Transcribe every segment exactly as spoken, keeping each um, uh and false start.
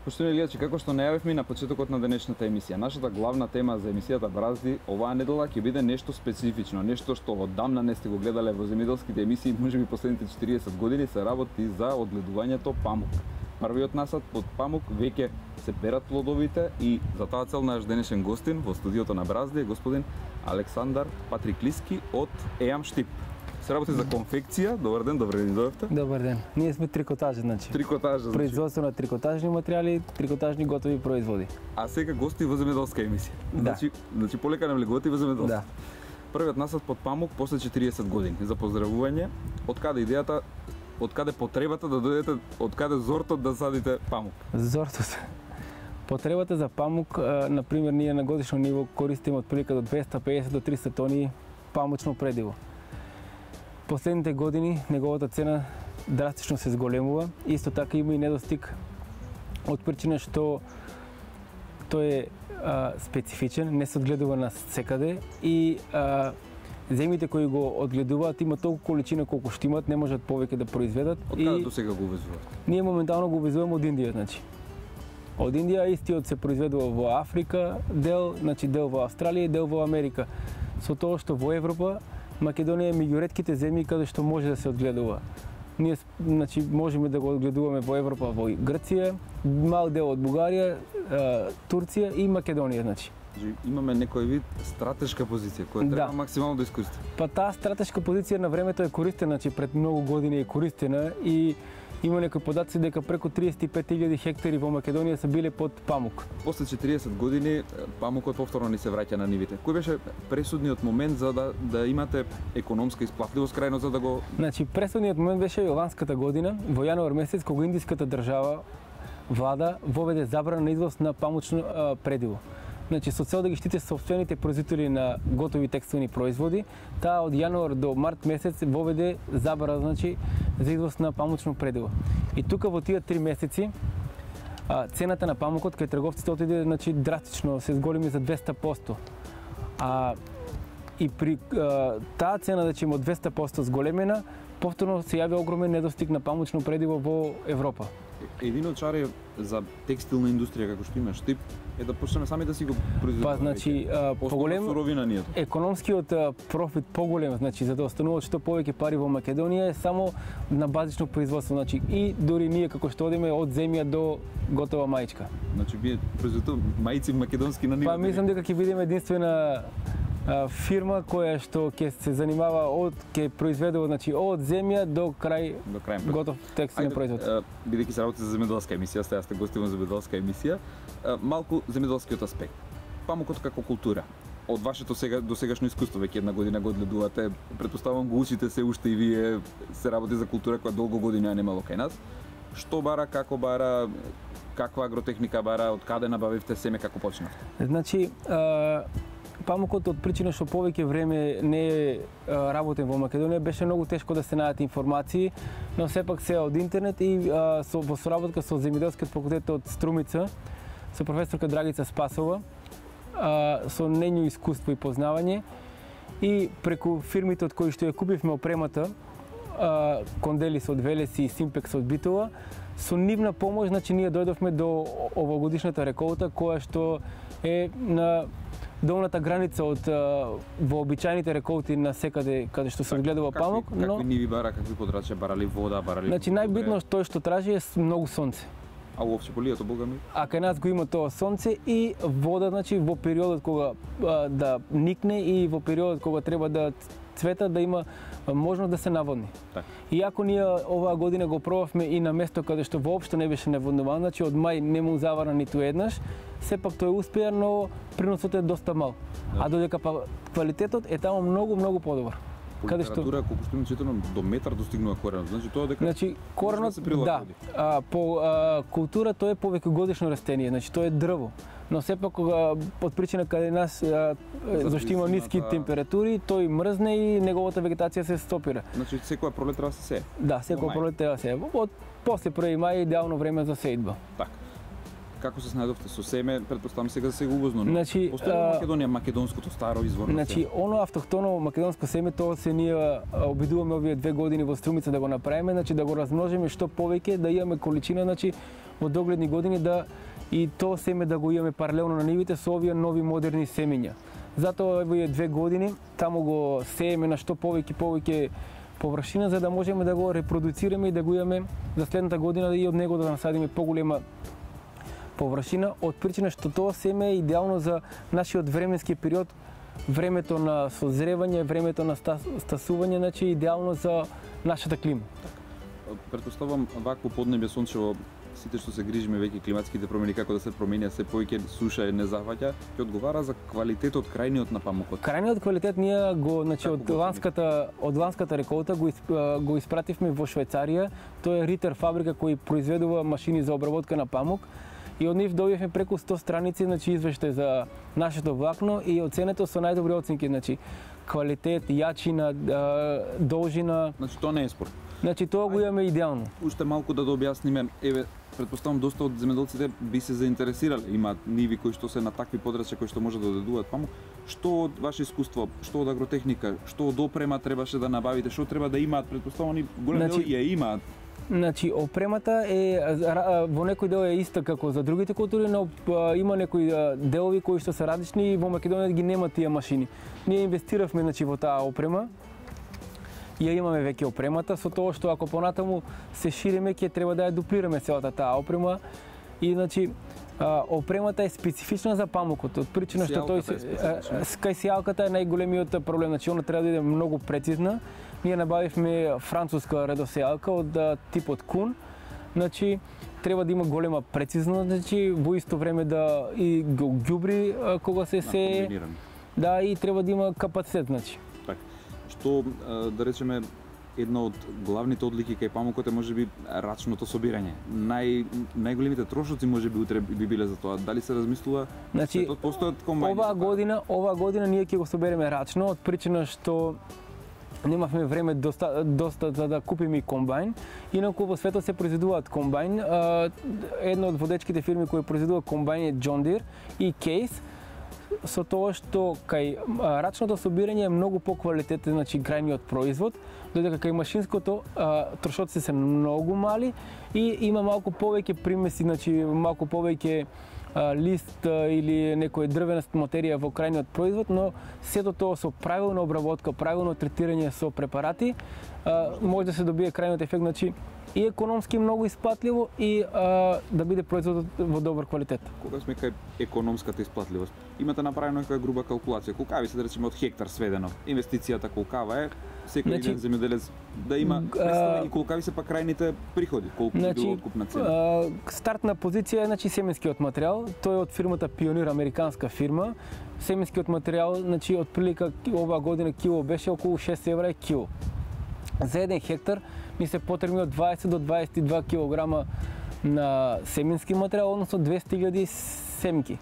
Поштовани гледачи, како што најавивме на почетокот на денешната емисија, нашата главна тема за емисијата Бразди оваа недела ќе биде нешто специфично, нешто што оддамна не сте го гледале во земјоделските емисии, можеби последните четириесет години се работи за одгледувањето памук. Првиот насад под памук веќе се берат плодовите и за таа цел наш денешен гостин во студиото на Бразди е господин Александар Патриклиски од ЕАМ Штип. Се работи за конфекција. Добар ден, добре ни дојдовте. Добар ден. Ние сме трикотажи, значи. Трикотажа, значи. Производство на трикотажни материјали, трикотажни готови производи. А сега гости во земјоделска емисија. Да. Значи, значи полека нам леготи во земјоделство. Да. Првиот насад под памук после четириесет години. За поздравување. Од каде идејата, од каде потребата да дојдете, од каде зортот да садите памук? Зортот. Потребата за памук, на пример, ние на годишно ниво користиме отприлика до двеста педесет до триста тони памучно предиво. Последните години неговата цена драстично се зголемува. Исто така има и недостиг од причина што тој е а, специфичен, не се одгледува на секаде и а, земјите кои го одгледуваат има толку количина колку што имат, не можат повеќе да произведат. Од каде до сега го увезувате? Ние моментално го увезуваме од Индија, значи. Од Индија истиот се произведува во Африка, дел, значи дел во Австралија и дел во Америка. Со тоа што во Европа Македонија е меѓу ретките земји каде што може да се одгледува. Ние значи можеме да го одгледуваме во Европа, во Грција, мал дел од Бугарија, Турција и Македонија, значи. Имаме некој вид стратешка позиција која треба да. максимално да искористи. Па таа стратешка позиција на времето е користена, значи пред многу години е користена и има некои податци дека преку триесет и пет илјади хектари во Македонија се биле под памук. После четириесет години памукот повторно ни се враќа на нивите. Кој беше пресудниот момент за да да имате економска исплатливост крајно за да го... Значи пресудниот момент беше ланската година, во јануар месец, кога индиската држава влада воведе забрана на извоз на памучно а, предиво. Значи со цел да ги штите сопствените производители на готови текстилни производи, таа од јануар до март месец воведе забрана, значи за извоз на памучно предиво. И тука во тие три месеци а, цената на памукот кај трговците отиде, значи драстично се зголеми за двеста проценти. А и при а, таа цена, значи од двеста проценти зголемена, повторно се јави огромен недостиг на памучно предиво во Европа. Едино чаре за текстилна индустрија како што има Штип е да почнеме сами да си го произведуваме. Па значи поголем суровина нијето. Економскиот профит поголем, значи за да остануваат што повеќе пари во Македонија е само на базично производство, значи и дури ние како што одиме од земја до готова маичка. Значи вие произведувате маици македонски на ниво. Па мислам дека ќе бидеме единствена фирма која што ќе се занимава од ќе произведува, значи од земја до крај до крај готов текстилен производ. Бидејќи се работи за земјоделска емисија, сега сте гости во земјоделска емисија, малку земјоделскиот аспект. Памукот како култура. Од вашето сега до сегашно искуство, веќе една година го одгледувате, претпоставувам го учите се уште и вие, се работи за култура која долго години ја немало кај нас. Што бара, како бара, каква агротехника бара, од каде набавивте семе, како почнавте? Значи, памукот од причина што повеќе време не е работен во Македонија беше многу тешко да се најдат информации, но сепак се од интернет и а, со, во соработка со земјоделскиот факултет од Струмица, со професорка Драгица Спасова, а, со нејно искуство и познавање и преку фирмите од кои што ја купивме опремата, а, Конделис од Велеси и Симпекс од Битола, со нивна помош, значи ние дојдовме до овогодишната реколта која што е на долната граница од вообичајните реколти на секаде каде што се одгледува памук, но какви ниви бара, какви подрачја, барали вода, барали... Значи најбитно тоа што тражи е многу сонце. А уопште полието, бога ми? А кај нас го има тоа сонце и вода, значи во периодот кога а, да никне и во периодот кога треба да цвета да има можност да се наводни. Так. Иако ние оваа година го пробавме и на место каде што воопшто не беше наводнувано, значи од мај не му завара ниту еднаш, сепак тој успеа, но приносот е доста мал. Да. А додека па квалитетот е таму многу многу подобар. По каде литература, што колку што ми читано, до метар достигнува коренот. Значи тоа дека Значи коренот да. А, по а, култура тоа е повеќе годишно растение, значи тоа е дрво. Но сепак од причина каде нас а, зашто има ниски температури, тој мрзне и неговата вегетација се стопира. Значи секоја пролет треба да се сее. Да, секоја пролет треба да се сее. Од после први мај е идеално време за сеидба. Така. Како се снајдовте со семе, претпоставам сега за сега увозно, но значи, постои во Македонија македонското старо изворно значи, семе? Значи, оно автохтоно македонско семе, тоа се ние обидуваме овие две години во Струмица да го направиме, значи да го размножиме што повеќе, да имаме количина, значи во догледни години да и тоа семе да го имаме паралелно на нивите со овие нови модерни семења. Затоа овие две години таму го сееме на што повеќе повеќе површина за да можеме да го репродуцираме и да го имаме за следната година и од него да насадиме поголема површина, од причина што тоа семе е идеално за нашиот временски период, времето на созревање, времето на стасување, значи идеално за нашата клима. Претпоставам вакво поднебје сончево, сите што се грижиме веќе климатските промени како да се променија, се повеќе суша не захваќа, ќе одговара за квалитетот крајниот на памукот. Крајниот квалитет ние го, значи од ланската од ланската реколта го го испративме во Швајцарија. Тоа е Ритер фабрика кој произведува машини за обработка на памук. И од нив добивме преку сто страници, значи извештај за нашето влакно и оценето со најдобри оценки, значи квалитет, јачина, должина. Значи тоа не е спор. Значи тоа го имаме идеално. Уште малку да дообјасниме, еве, претпоставам доста од земјоделците би се заинтересирале, имаат ниви кои што се на такви подрачја кои што може да додадуваат памук. Што од ваше искуство, што од агротехника, што од опрема требаше да набавите, што треба да имаат, претпоставам они големи значи, ја имаат. Значи, опремата е во некој дел е иста како за другите култури, но има некои делови кои што се различни и во Македонија ги нема тие машини. Ние инвестиравме значи во таа опрема. Ја имаме веќе опремата со тоа што ако понатаму се шириме ќе треба да ја дуплираме целата таа опрема и значи опремата е специфична за памукот, од причина што тој се кај сејалката е најголемиот проблем, значи она треба да биде многу прецизна. Ние набавивме француска редосејалка од типот Кун. Значи треба да има голема прецизност, значи во исто време да и го ѓубри кога се сее. Да, и треба да има капацитет, значи. Така. Што да речеме една од главните одлики кај памукот е можеби рачното собирање. Нај најголемите трошоци можеби утре би биле за тоа. Дали се размислува? Значи, постојат комбајни. Оваа година, оваа година ние ќе го собереме рачно од причина што немавме време доста, доста за да купиме и комбајн. Инаку во светот се произведуваат комбајн. Една од водечките фирми кои произведува комбајн е John Deere и Case. Со тоа што кај рачното собирање е многу поквалитетен, значи крајниот производ, додека кај машинското трошоците се многу мали и има малку повеќе примеси, значи малку повеќе лист или некој дрвена материја во крајниот производ, но сето тоа со правилна обработка, правилно третирање со препарати може да се добие крајниот ефект, значи и економски многу исплатливо и а, да биде производот во добар квалитет. Кога сме кај економската исплатливост, имате направено нека груба калкулација. Колка би се да речеме од хектар сведено? Инвестицијата колкава е? Секој значи, еден земјоделец да има представа и колка ви се па крајните приходи, колку значи, било откупна цена? А, стартна позиција е значи семенскиот материјал, тој е од фирмата Пионир, американска фирма. Семенскиот материјал, значи од прилика оваа година кило беше околу шест евра е кило. За еден хектар ни се потребни од дваесет до дваесет и два килограма на семенски материјал, односно двесте илјади семки.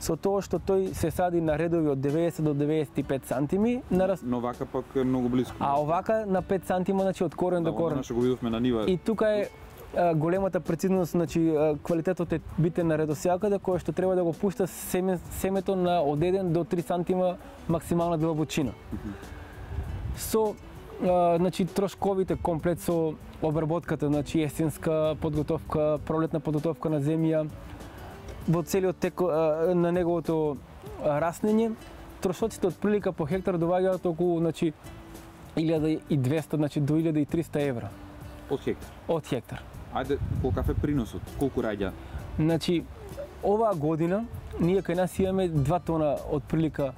Со тоа што тој се сади на редови од деветдесет до деветдесет и пет сантими на раз... Но вака пак е многу близко. А овака на пет сантима, значи од корен да, до корен. Да, го видовме на нива. И тука е а, големата прецизност, значи квалитетот е битен на редосејалката која што треба да го пушта семе, семето на од еден до три сантима максимална длабочина. Mm-hmm. Со Uh, значи трошковите комплет со обработката, значи есенска подготовка, пролетна подготовка на земја, во целиот тек uh, на неговото uh, раснење, трошоците од прилика по хектар доаѓаат околу значи илјада и двесте, значи до илјада и триста евра. Од хектар. Од хектар. Ајде, колкав е приносот? Колку раѓа? Значи оваа година ние кај нас имаме два тона од прилика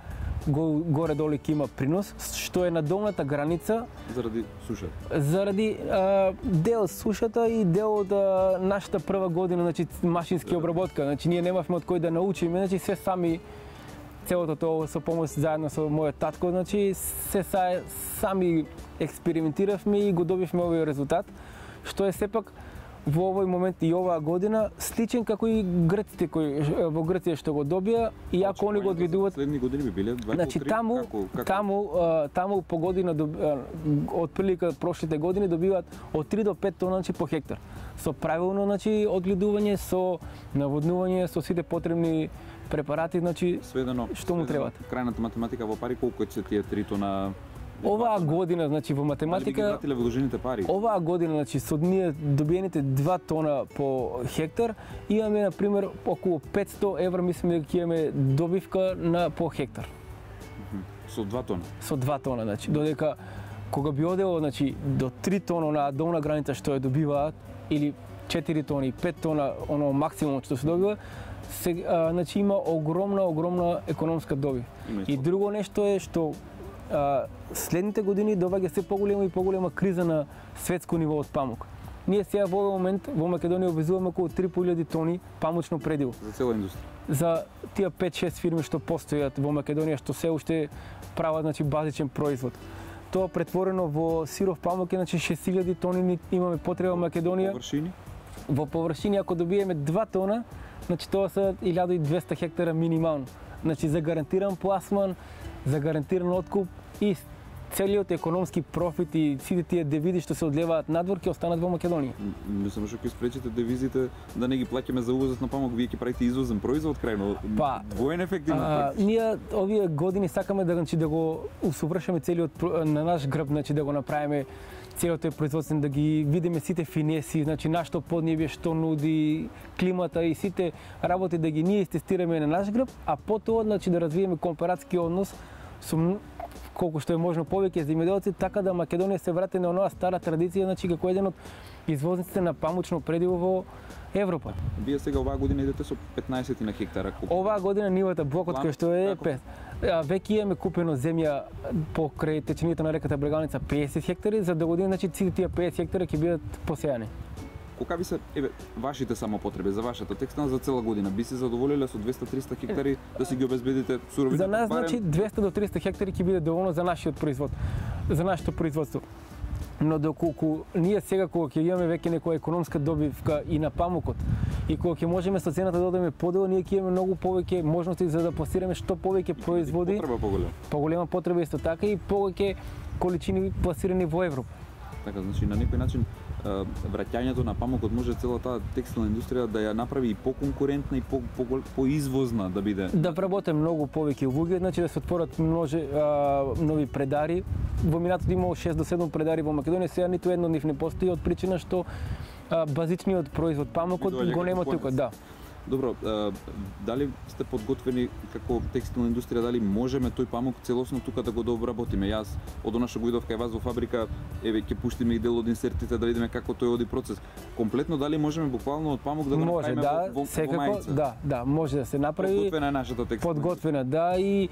горе-долу ќе има принос, што е на долната граница заради сушата. Заради а, дел сушата и дел од а, нашата прва година, значи машински обработка. Значи ние немавме од кој да научиме, значи се сами целото тоа со помош заедно со мојот татко, значи се са, сами експериментиравме и го добивме овој резултат, што е сепак во овој момент и оваа година сличен како и грците кои во Грција што го добија, иако они го одвидуваат. Следни години би биле два значи, таму, како, како? таму, таму по година од прилика прошлите години добиваат од три до пет тона значи, по хектар. Со правилно значи одгледување, со наводнување, со сите потребни препарати, значи сведено, што му требаат. Крајната математика во пари колку се тие три тона Оваа година, значи во математика, дали би ги вратиле вложените пари? Оваа година, значи со ние добиените два тона по хектар, имаме на пример околу петсто евра, мислиме дека ќе имаме добивка на по хектар. Со два тона. Со два тона, значи додека кога би одело, значи до три тона на долна граница што ја добиваат или четири тони, пет тона, оно максимум што се добива, се, а, значи има огромна, огромна економска добив. И друго нешто е што а, следните години доаѓа се поголема и поголема криза на светско ниво од памук. Ние сега во овој момент во Македонија обвезуваме околу три и по илјади тони памучно предиво. За цела индустрија. За тие пет-шест фирми што постојат во Македонија што се уште прават, значи, базичен производ. Тоа претворено во сиров памук е, значи, шест илјади тони имаме потреба во Македонија. Површини? Во површини, ако добиеме два тона, значи тоа се илјада и двесте хектара минимално. Значи за гарантиран пласман, за гарантиран откуп и целиот економски профит и сите тие девизи што се одлеваат надвор ќе останат во Македонија. Мислам што ќе спречите девизите да не ги плаќаме за увозот на памук, вие ќе правите извозен производ крајно. Па, двоен ефект има. Ние овие години сакаме да, значи, да го усовршиме целиот на наш грб, значи да го направиме целиот тој производствен, да ги видиме сите финеси, значи нашто поднебје што нуди, климата и сите работи да ги ние истестираме на наш грб, а потоа, значи, да развиеме компаратски однос со колку што е можно повеќе земјоделци, така да Македонија се врати на онаа стара традиција, значи како еден од извозниците на памучно предиво во Европа. Вие сега оваа година идете со петнаесет на хектара. Оваа година нивата блокот кој што е пет. Веќе имаме купено земја покрај теченијата на реката Брегалница педесет хектари, за до година, значи, сите тие педесет хектари ќе бидат посејани. Колка би се, еве, вашите самопотреби за вашата текстилна за цела година? Би се задоволиле со двесте-триста хектари да си ги обезбедите суровините? За нас, значи, двесте до триста хектари ќе биде доволно за нашиот производ, за нашето производство. Но доколку ние сега кога ќе имаме веќе некоја економска добивка и на памукот и кога ќе можеме со цената да одиме подолу, ние ќе имаме многу повеќе можности за да пласираме што повеќе производи. Потреба поголема. Поголема потреба исто така и повеќе количини пласирани во Европа. Така, значи на некој начин враќањето на памукот може целата текстилна индустрија да ја направи и поконкурентна и по, по, поизвозна да биде. Да вработе многу повеќе луѓе, значи да се отворат множе а, нови предари. Во минатото имало шест до седум предари во Македонија, сега ниту едно од нив не постои од причина што а, базичниот производ памукот го нема тука, да. Добро, а, дали сте подготвени како текстилна индустрија, дали можеме тој памук целосно тука да го дообработиме? Јас од она што го видов кај вас во фабрика, еве ќе пуштиме и дел од инсертите да видиме како тој оди процес. Комплетно дали можеме буквално од памук да го може, направиме да, во, во, секако, во мајца? Да, да, може да се направи. Подготвена е нашата текстилна. Подготвена, да, и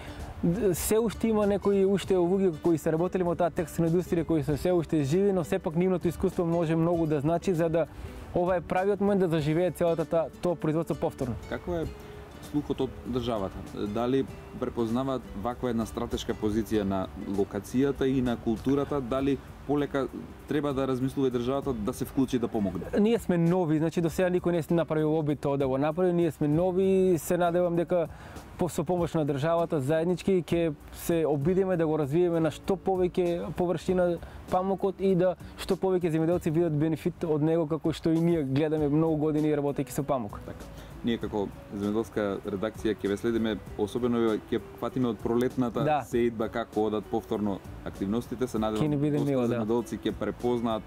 се уште има некои уште луѓе кои се работеле во таа текстилна индустрија кои се се уште живи, но сепак нивното искуство може многу да значи за да ова е правиот момент да заживее целата та, тоа производство повторно. Како е слухот од државата? Дали препознаваат ваква една стратешка позиција на локацијата и на културата? Дали полека треба да размислува државата да се вклучи да помогне? Ние сме нови, значи до сега никој не се направил обид тоа да го направи. Ние сме нови и се надевам дека со помош на државата заеднички ќе се обидиме да го развиеме на што повеќе површина памукот и да што повеќе земјоделци видат бенефит од него, како што и ние гледаме многу години работејќи со памук. Така. Ние како земјоделска редакција ќе ве следиме, особено ќе фатиме од пролетната да. сеидба како одат повторно активностите, се надевам доста земјоделци ќе препознаат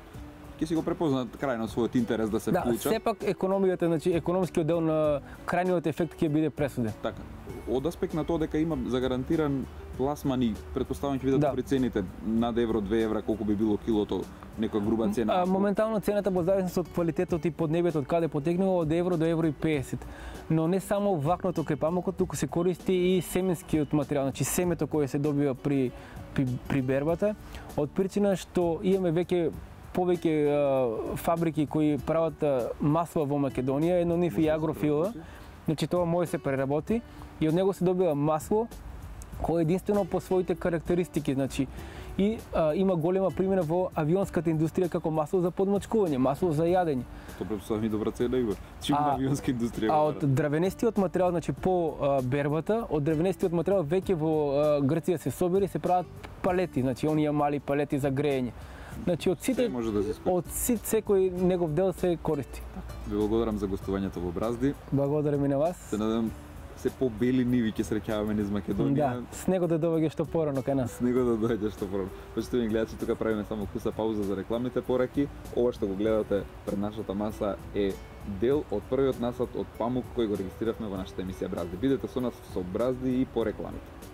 ќе си го препознаат крајно својот интерес да се да, вклучат. Да, сепак економијата, значи економскиот дел на крајниот ефект ќе биде пресуден. Така. Од аспект на тоа дека има загарантиран пласман и претпоставам ќе бидат добри да. цените над евро, две евра, колку би било килото, некоја груба цена. А, моментално цената во зависност од квалитетот и поднебјето од каде потекнува од евро до евро и педесет. Но не само вакното кај памукот, туку се користи и семенскиот материјал, значи семето кое се добива при при, при бербата, од причина што имаме веќе повеќе фабрики кои прават масло во Македонија, едно нив и Агрофила. Значи тоа може се преработи и од него се добива масло кое единствено по своите карактеристики, значи и а, има голема примена во авионската индустрија како масло за подмачкување, масло за јадење. Тоа претпоставам и добра цена има. Чим на авионска индустрија. А од дрвенестиот материјал, значи по а, бербата, од дрвенестиот материјал веќе во а, Грција се собери се прават палети, значи оние мали палети за грејење. Значи од сите може да се од сите секој негов дел се користи. Ви благодарам за гостувањето во Бразди. Благодарам и на вас. Се надевам се побели ниви ќе среќаваме низ Македонија. Да, снегот да доаѓа што порано кај нас. Снегот да доаѓа што порано. Почитувани гледачи, тука правиме само куса пауза за рекламните пораки. Ова што го гледате пред нашата маса е дел од првиот насад од памук кој го регистриравме во нашата емисија Бразди. Бидете со нас со Бразди и по рекламите.